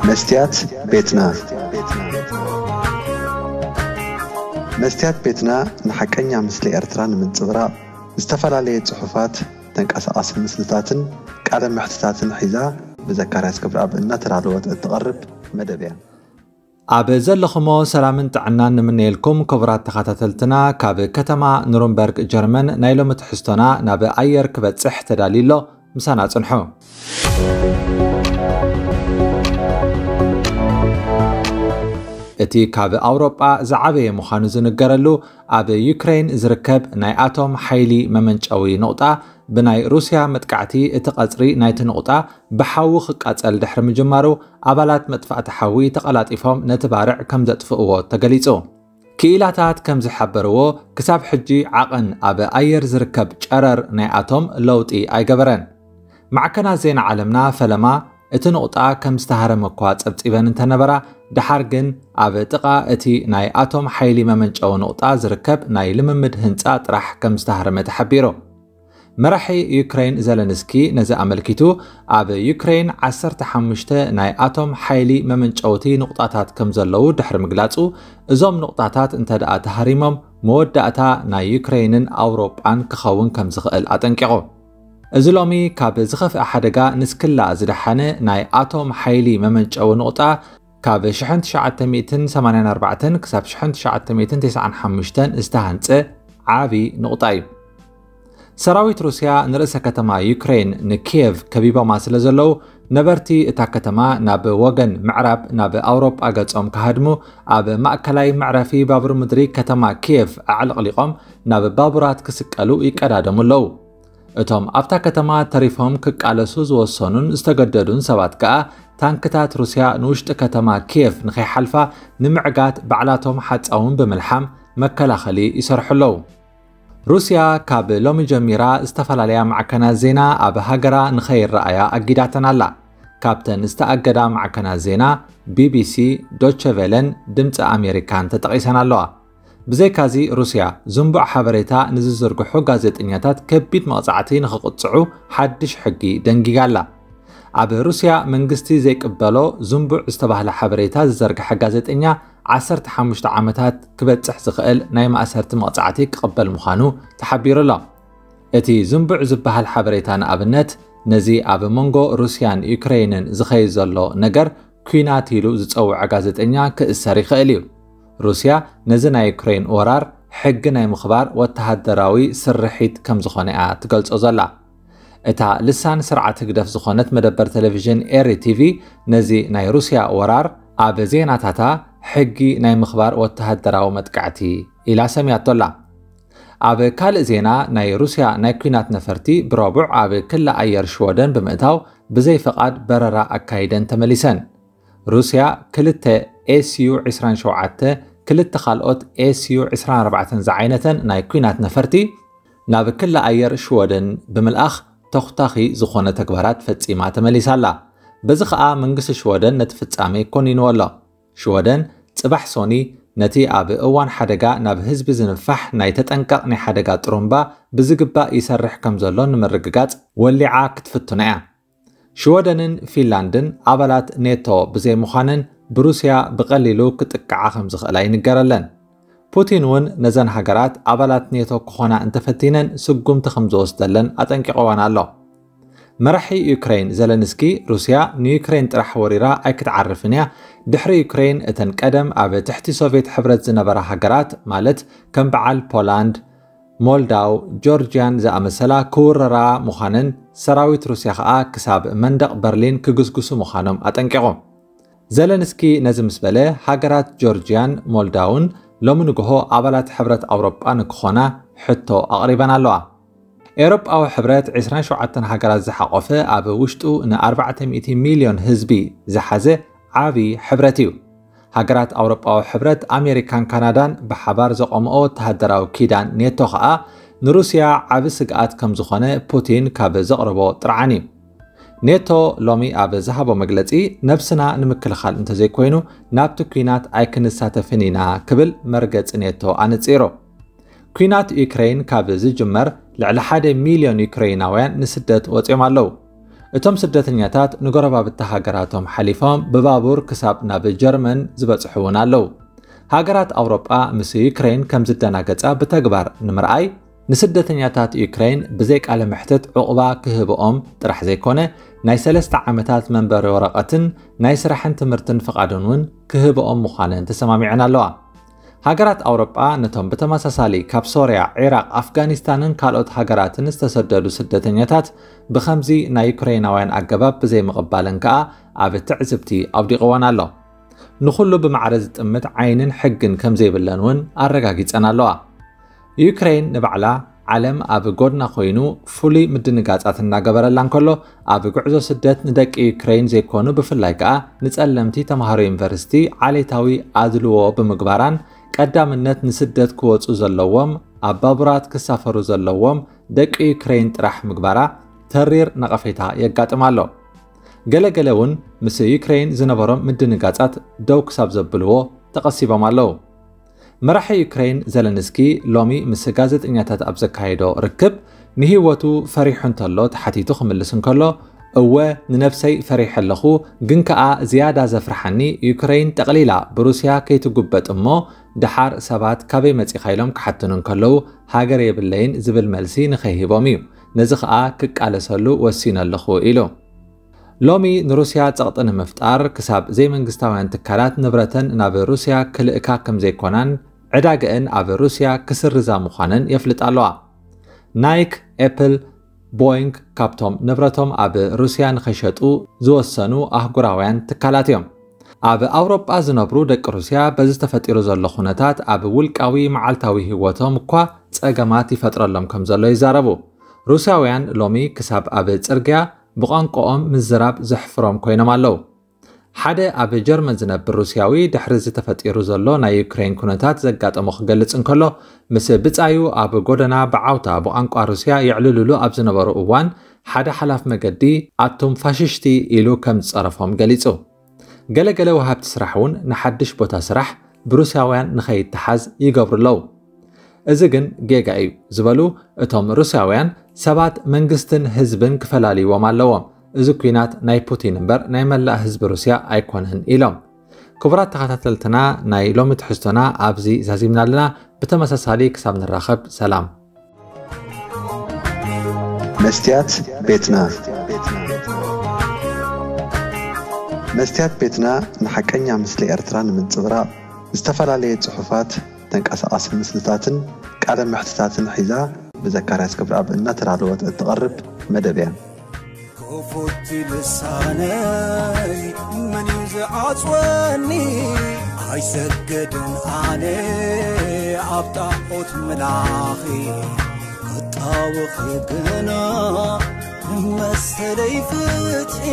መስትያት ቤትና። መስትያት ቤትና ንሓቀኛ ምስሊ ኤርትራ ንምንጽብራቕ ዝተፈላለየ ጽሑፋት፣ ተንቀሳቓሲ ምስልታትን ቃለ መሕትታትን ሒዛ ብዘካርያስ ክብረኣብ እናተዳለወት እትቐርብ መደብ እያ። ኣብ ዘለኹሞ ሰላምን ጥዕናን ንምነየልኩም ክቡራት ተኸታተልትና። ካብ ከተማ ኑርንበርግ ጀርመን ናይ ሎሚ ትሕዝቶና ናብ ኣየር ክበጽሕ ተዳልዩ ኣሎ። ምሳና ጽንሑ። እቲ ካብ ኣውሮጳ ዝዓበየ ምዃኑ ዝንገረሉ ኣብ ዩክሬን ዝርከብ ናይ ኣቶም ሓይሊ መመንጨዊ ኑቕጣ ብናይ ሩስያ መጥቃዕቲ እቲ ቀጽሪ ናይቲ ኑቕጣ ብሓዊ ክቃጸል ድሕሪ ምጅማሩ ኣባላት መጥፋእቲ ሓዊ ተቐላጢፎም ነቲ ባርዕ ከም ዘጥፍእዎ ተገሊጹ። ክኢላታት ከም ዝሓበርዎ ክሳብ ሕጂ ዓቐን ኣብ ኣየር ዝርከብ ጨረር ናይ ኣቶም ለውጢ ኣይገበረን። ማዕከናት ዜና ዓለምና ፈለማ እቲ ኑቕጣ ከም ዝተሃረመ እኳ ጸብጺበን እንተነበራ፣ ደሓር ግን ኣብ ጥቓ እቲ ናይ ኣቶም ሓይሊ መመንጨዊ ኑቕጣ ዝርከብ ናይ ልምምድ ህንጻ ጥራሕ ከም ዝተሃረመ ተሓቢሩ። መራሒ ዩክሬን ዘለንስኪ ነዚ ኣመልኪቱ ኣብ ዩክሬን ዓሰርተ ሓሙሽተ ናይ ኣቶም ሓይሊ መመንጨውቲ ኑቕጣታት ከም ዘለዉ ድሕሪ ምግላጹ፣ እዞም ኑቕጣታት እንተ ደኣ ተሃሪሞም መወዳእታ ናይ ዩክሬንን ኣውሮጳን ክኸውን ከም ዝኽእል ኣጠንቂቑ። እዚ ሎሚ ካብ ዝኸፍአ ሓደጋ ንስክላ ዝደሓነ ናይ ኣቶም ሓይሊ መመንጨዊ ኑቕጣ ካብ ሽሕን ትሽዓተ ሚእትን ሰማንያን ኣርባዕተን ክሳብ ሽሕን ትሽዓተ ሚእትን ተስዓን ሓሙሽተን ዝተሃንጸ ዓቢ ኑቕጣ እዩ። ሰራዊት ሩስያ ንርእሰ ከተማ ዩክሬን ንኪየቭ ከቢቦማ ስለ ዘለዉ፣ ነበርቲ እታ ከተማ ናብ ወገን ምዕራብ ናብ ኣውሮጳ ገጾም ክሃድሙ ኣብ ማእከላይ መዕረፊ ባቡር ምድሪ ከተማ ኪየቭ ኣዕለቕሊቖም ናብ ባቡራት ክስቀሉ ይቀዳደሙ ኣለዉ። እቶም ኣብታ ከተማ ተሪፎም ክቃለሱ ዝወሰኑን ዝተገደዱን ሰባት ከኣ ታንክታት ሩስያ ንውሽጢ ከተማ ኪየቭ ንኸይሓልፋ ንምዕጋት ባዕላቶም ሓጻውን ብምልሓም መከላኸሊ ይሰርሑ ኣለዉ። ሩስያ ካብ ሎሚ ጀሚራ ዝተፈላለያ ማዕከናት ዜና ኣብ ሃገራ ንኸይረኣያ ኣጊዳተን ኣላ። ካብተን ዝተኣገዳ ማዕከናት ዜና ቢቢሲ፣ ዶቸ ቬለን ድምፂ ኣሜሪካን ተጠቒሰን ኣለዋ። ብዘይካዚ ሩስያ ዝንቡዕ ሓበሬታ ንዝዝርግሑ ጋዜጠኛታት ከቢድ መቕጻዕቲ ንኽቕጽዑ ሓድሽ ሕጊ ደንጊጋ ኣላ። ኣብ ሩስያ መንግስቲ ዘይቅበሎ ዝንቡዕ ዝተባህለ ሓበሬታ ዝዘርግሐ ጋዜጠኛ ዓሰርተ ሓሙሽተ ዓመታት ክበጽሕ ዝኽእል ናይ ማእሰርቲ መቕጻዕቲ ክቕበል ምዃኑ ተሓቢሩ ኣሎ። እቲ ዝንቡዕ ዝበሃል ሓበሬታ ንኣብነት ነዚ ኣብ መንጎ ሩስያን ዩክሬንን ዝኸይድ ዘሎ ነገር ኲናት ኢሉ ዝጸውዐ ጋዜጠኛ ክእሰር ይኽእል እዩ። ሩስያ ነዚ ናይ ዩክሬን ወራር ሕጊ ናይ ምኽባር ወተሃደራዊ ስርሒት ከም ዝኾነ እያ ትገልጾ ዘላ። እታ ልሳን ስርዓት ህግደፍ ዝኾነት መደበር ቴሌቪዥን ኤሪ ቲቪ ነዚ ናይ ሩስያ ወራር ኣብ ዜናታታ ሕጊ ናይ ምኽባር ወተሃደራዊ መጥቃዕቲ ኢላ ሰምያቶ ኣላ። ኣብ ካልእ ዜና ናይ ሩስያ ናይ ኲናት ነፈርቲ ብረቡዕ ኣብ ክሊ ኣየር ሽወደን ብምእታው ብዘይ ፍቓድ በረራ ኣካይደን ተመሊሰን። ሩስያ ክልተ ኤስዩ ዕስራን ሸውዓተ፣ ክልተ ካልኦት ኤስዩ ዕስራን ኣርባዕተን ዝዓይነተን ናይ ኲናት ነፈርቲ ናብ ክሊ ኣየር ሽወደን ብምልኣኽ ተኹታኺ ዝኾነ ተግባራት ፈጺማ ተመሊሳ ኣላ። በዚ ኸኣ መንግስቲ ሽወደን ነቲ ፍጻሜ ኮኒንዎ ኣሎ። ሽወደን ጽባሕ ሶኒ ነቲ ኣብ እዋን ሓደጋ ናብ ህዝቢ ዝንፋሕ ናይ ተጠንቀቕ ናይ ሓደጋ ጥሩምባ ብዝግባእ ይሰርሕ ከም ዘሎ ንምርግጋጽ ወሊዓ ክትፍትኖ እያ። ሽወደንን ፊንላንድን ኣባላት ኔቶ ብዘይምዃነን ብሩስያ ብቐሊሉ ክጥቅዓ ከም ዝኽእላ ይንገረለን። ፑቲን እውን ነዘን ሃገራት ኣባላት ኔቶ ክኾና እንተፈቲነን ስጉምቲ ከም ዝወስደለን ኣጠንቂቕወን ኣሎ። መራሒ ዩክሬን ዘለንስኪ ሩስያ ንዩክሬን ጥራሕ ወሪራ ኣይክትዓርፍን እያ፣ ድሕሪ ዩክሬን እተን ቀደም ኣብ ትሕቲ ሶቭየት ሕብረት ዝነበራ ሃገራት ማለት ከም በዓል ፖላንድ፣ ሞልዳው፣ ጆርጅያን ዝኣመሰላ ክውረራ ምዃነን ሰራዊት ሩስያ ኸኣ ክሳብ መንደቕ በርሊን ክግስግሱ ምዃኖም ኣጠንቂቑ። ዘለንስኪ ነዚ ምስ በለ ሃገራት ጆርጅያን ሞልዳውን ሎሚ ንግሆ ኣባላት ሕብረት ኣውሮጳ ንክኾና ሕቶ ኣቕሪበን ኣለዋ። ኤውሮጳዊ ሕብረት ዕስራን ሸውዓተን ሃገራት ዝሓቖፈ ኣብ ውሽጡ ን ኣርባዕተ ሚእቲ ሚልዮን ህዝቢ ዝሓዘ ዓቢ ሕብረት እዩ። ሃገራት ኣውሮጳዊ ሕብረት ኣሜሪካን ካናዳን ብሓባር ዘቖምኦ ወተሃደራዊ ኪዳን ኔቶ ኸኣ ንሩስያ ዓቢ ስግኣት ከም ዝኾነ ፑቲን ካብ ዘቕረቦ ጥርዓን እዩ። ኔቶ ሎሚ ኣብ ዝሃቦ መግለጺ ነብስና ንምክልኻል እንተዘይኮይኑ ናብቲ ኲናት ኣይክንሳተፍን ኢና ክብል መርገጺ ኔቶ ኣነጺሩ። ኲናት ዩክሬን ካብ ዝጅመር ልዕሊ ሓደ ሚልዮን ዩክሬናውያን ንስደት ወጺኦም ኣለዉ። እቶም ስደተኛታት ንጎረባብቲ ሃገራቶም ሓሊፎም ብባቡር ክሳብ ናብ ጀርመን ዝበጽሑ እውን ኣለዉ። ሃገራት ኣውሮጳ ምስ ዩክሬን ከም ዝደናገጻ ብተግባር ንምርኣይ፣ ንስደተኛታት ዩክሬን ብዘይ ቃለ መሕትት ዕቑባ ክህብኦም ጥራሕ ዘይኮነ፣ ናይ ሰለስተ ዓመታት መንበሪ ወረቐትን ናይ ስራሕን ትምህርትን ፍቓድን እውን ክህብኦም ምዃነን ተሰማሚዐን ኣለዋ። ሃገራት ኣውሮጳ ነቶም ብተመሳሳሊ ካብ ሶርያ፣ ዒራቕ፣ ኣፍጋኒስታንን ካልኦት ሃገራትን ዝተሰደዱ ስደተኛታት ብኸምዚ ናይ ዩክሬናውያን ኣገባብ ብዘይምቕባለን ከኣ ኣብ ትዕዝብቲ ኣውዲቕወን ኣሎ። ንኹሉ ብማዕረ ዝጥምት ዓይንን ሕግን ከም ዘይብለን እውን ኣረጋጊጸን ኣለዋ። ዩክሬን ንባዕላ ዓለም ኣብ ጎድና ኮይኑ ፍሉይ ምድንጋጻት እናገበረላ እንከሎ፣ ኣብ ጉዕዞ ስደት ንደቂ ዩክሬን ዘይኮኑ ብፍላይ ከኣ ንጸለምቲ ተምሃሮ ዩኒቨርሲቲ ዓሌታዊ ኣድልዎ ብምግባራን ቀዳምነት ንስደት ክወጹ ዘለዎም ኣብ ባቡራት ክሳፈሩ ዘለዎም ደቂ ዩክሬን ጥራሕ ምግባራ ተሪር ነቐፌታ የጋጥም ኣሎ። ገለገለ እውን ምስ ዩክሬን ዝነበሮም ምድንጋጻት ደው ክሳብ ዘብልዎ ተቐሲቦም ኣለዉ። መራሒ ዩክሬን ዘለንስኪ ሎሚ ምስ ጋዜጠኛታት ኣብ ዘካየዶ ርክብ፣ ንህይወቱ ፈሪሑ እንተሎ ተሓቲቱ ክምልስ እንከሎ፣ እወ፣ ንነብሰይ ፈሪሐ ኣለኹ፣ ግን ከኣ ዝያዳ ዘፍርሓኒ ዩክሬን ጠቕሊላ ብሩስያ ከይትጉበጥ እሞ፣ ደሓር ሰባት ካበይ መጺኻ ኢሎም ክሓትኑ እንከለዉ፣ ሃገር የብለይን ዝብል መልሲ ንኸይህቦም እዩ። ነዚ ከኣ ክቃለሰሉ ወሲነ ኣለኹ ኢሉ። ሎሚ ንሩስያ ጸቕጢ ንምፍጣር ክሳብ ዘይመንግስታውያን ትካላት ንብረተን ናብ ሩስያ ክልእካ ከም ዘይኮናን ዕዳገአን ኣብ ሩስያ ክስርዛ ምዃነን የፍልጣ ኣለዋ። ናይክ፣ ኤፕል፣ ቦይንግ ካብቶም ንብረቶም ኣብ ሩስያ ንኸይሸጡ ዝወሰኑ ኣህጉራውያን ትካላት እዮም። ኣብ ኣውሮጳ ዝነብሩ ደቂ ሩስያ በዚ ተፈጢሩ ዘሎ ኩነታት ኣብ ውልቃዊ መዓልታዊ ህይወቶም እኳ ጸገማት ይፈጥረሎም ከም ዘሎ ይዛረቡ። ሩስያውያን ሎሚ ክሳብ ኣብ ጽርግያ ብቋንቋኦም ምዝራብ ዘሕፍሮም ኮይኖም ኣለዉ። ሓደ ኣብ ጀርመን ዝነብር ሩስያዊ ድሕሪ እዚ ተፈጢሩ ዘሎ ናይ ዩክሬን ኩነታት ዘጋጠሞ ክገልጽ እንከሎ፣ ምስ ብጻዩ ኣብ ጎደና ብዓውታ ብቋንቋ ሩስያ የዕልልሉ ኣብ ዝነበሩ እዋን፣ ሓደ ሓላፍ መገዲ ኣቱም ፋሽሽቲ ኢሉ ከም ዝጸረፎም ገሊጹ። ገለገለ ወሃብቲ ስራሕ እውን ንሓድሽ ቦታ ስራሕ ብሩስያውያን ንኸይተሓዝ ይገብሩ ኣለዉ። እዚ ግን ጌጋ እዩ ዝበሉ እቶም ሩስያውያን ሰባት መንግስትን ህዝብን ክፈላልይዎም ኣለዎም። እዚ ኲናት ናይ ፑቲን እምበር ናይ መላእ ህዝቢ ሩስያ ኣይኮነን ኢሎም። ክቡራት ተኸታተልትና ናይ ሎሚ ትሕዝቶና ኣብዚ ዛዚምና ኣለና። ብተመሳሳሊ ክሳብ ንራኸብ ሰላም። መስትያት ቤትና መስትያት ቤትና ንሓቀኛ ምስሊ ኤርትራ ንምንጽብራቕ ዝተፈላለየ ጽሑፋት፣ ተንቀሳቓሲ ምስልታትን ቃለ መሕትታትን ሒዛ ብዘካርያስ ክብረኣብ እናተዳለወት እትቐርብ መደብ እያ። ክፉት ልሳነይ መን እዩ ዝዓጽወኒ? ኣይሰገድን ኣነ ኣብ ጣዖት ምላኺ ክጣወኺ ግና መሰለይ ፍትሒ